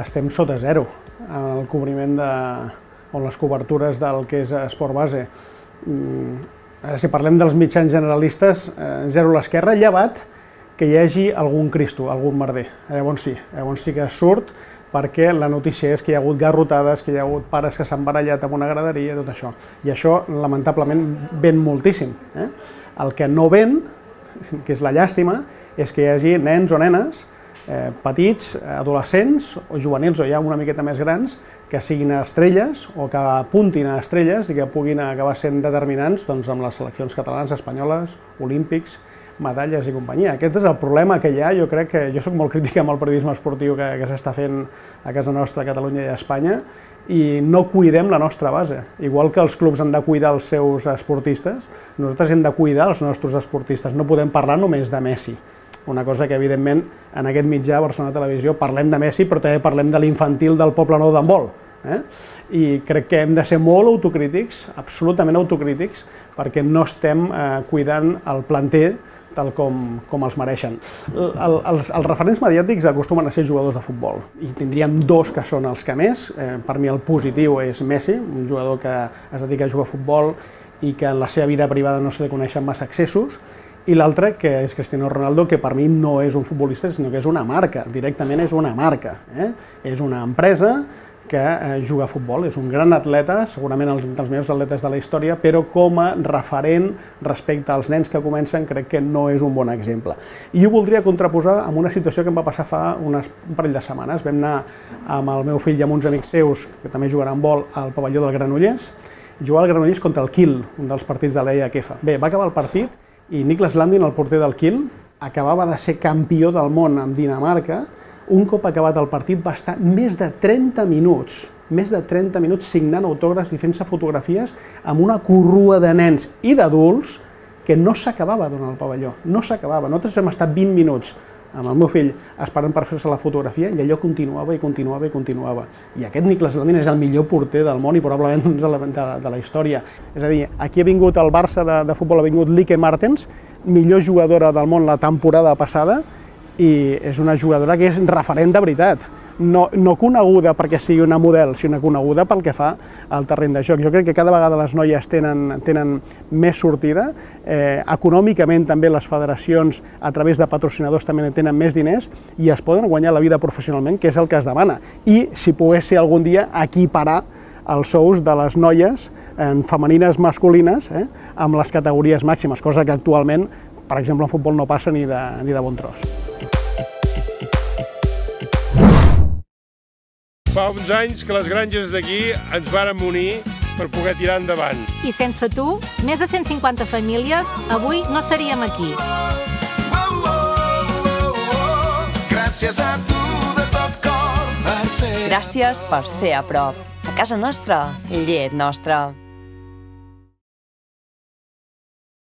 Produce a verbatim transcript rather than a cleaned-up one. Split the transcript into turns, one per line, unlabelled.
estem sota zero en el cobriment de, o les cobertures del que és esport base. Ara, si parlem dels mitjans generalistes, zero a l'esquerra, llevat que hi hagi algun cristo, algun merder. Llavors sí, llavors sí que surt, perquè la notícia és que hi ha hagut garrotades, que hi ha hagut pares que s'han barallat amb una graderia, tot això. I això, lamentablement, ven moltíssim. Eh? El que no ven, que és la llàstima, és que hi hagi nens o nenes, eh, petits, adolescents o juvenils o ja una miqueta més grans, que siguin estrelles o que apuntin a estrelles i que puguin acabar sent determinants doncs, amb les seleccions catalanes, espanyoles, olímpics, medalles i companyia. Aquest és el problema que hi ha. Jo crec que jo soc molt crític amb el periodisme esportiu que, que s'està fent a casa nostra, a Catalunya i a Espanya, i no cuidem la nostra base. Igual que els clubs han de cuidar els seus esportistes, nosaltres hem de cuidar els nostres esportistes. No podem parlar només de Messi. Una cosa que, evidentment, en aquest mitjà, Barcelona Televisió, parlem de Messi, però també parlem de l'infantil del Poble Nou d'handbol. Eh? I crec que hem de ser molt autocrítics, absolutament autocrítics, perquè no estem eh, cuidant el planter tal com, com els mereixen. El, els, els referents mediàtics acostumen a ser jugadors de futbol, i tindríem dos que són els que més. Eh, per mi el positiu és Messi, un jugador que es dedica a jugar a futbol i que en la seva vida privada no se li coneixen massa excessos, i l'altre, que és Cristiano Ronaldo, que per mi no és un futbolista, sinó que és una marca, directament és una marca. Eh? És una empresa que eh, juga a futbol, és un gran atleta, segurament un dels millors atletes de la història, però com a referent respecte als nens que comencen crec que no és un bon exemple. I ho voldria contraposar amb una situació que em va passar fa unes, un parell de setmanes. Vam anar amb el meu fill i amb uns amics seus, que també jugaran a vol, al pavelló del Granollers, jugar al Granollers contra el Kiel, un dels partits de l'E H F. Bé, va acabar el partit i Niklas Landin, el porter del Kiel, acabava de ser campió del món amb Dinamarca. Un cop acabat el partit va estar més de trenta minuts, més de trenta minuts signant autògrafs i fent-se fotografies amb una corrua de nens i d'adults que no s'acabava durant el pavelló, no s'acabava. Nosaltres vam estar vint minuts amb el meu fill esperant per fer-se la fotografia i allò continuava i continuava i continuava. I aquest Niklas Landin és el millor porter del món i probablement de, de la història. És a dir, aquí ha vingut el Barça de, de futbol, ha vingut Lieke Martens, millor jugadora del món la temporada passada, i és una jugadora que és referent de veritat, no, no coneguda perquè sigui una model, sinó coneguda pel que fa al terreny de joc. Jo crec que cada vegada les noies tenen, tenen més sortida, eh, econòmicament també les federacions a través de patrocinadors també tenen més diners i es poden guanyar la vida professionalment, que és el que es demana. I si pogués ser algun dia equiparar els sous de les noies en femenines masculines eh, amb les categories màximes, cosa que actualment, per exemple, en futbol no passa ni de, ni de bon tros.
Fa uns anys que les granges d'aquí ens varen unir per poder tirar endavant.
I sense tu, més de cent cinquanta famílies, avui no seríem aquí.
Gràcies a tu de tot cor per ser...
Gràcies per ser a prop. A casa nostra, llet nostra.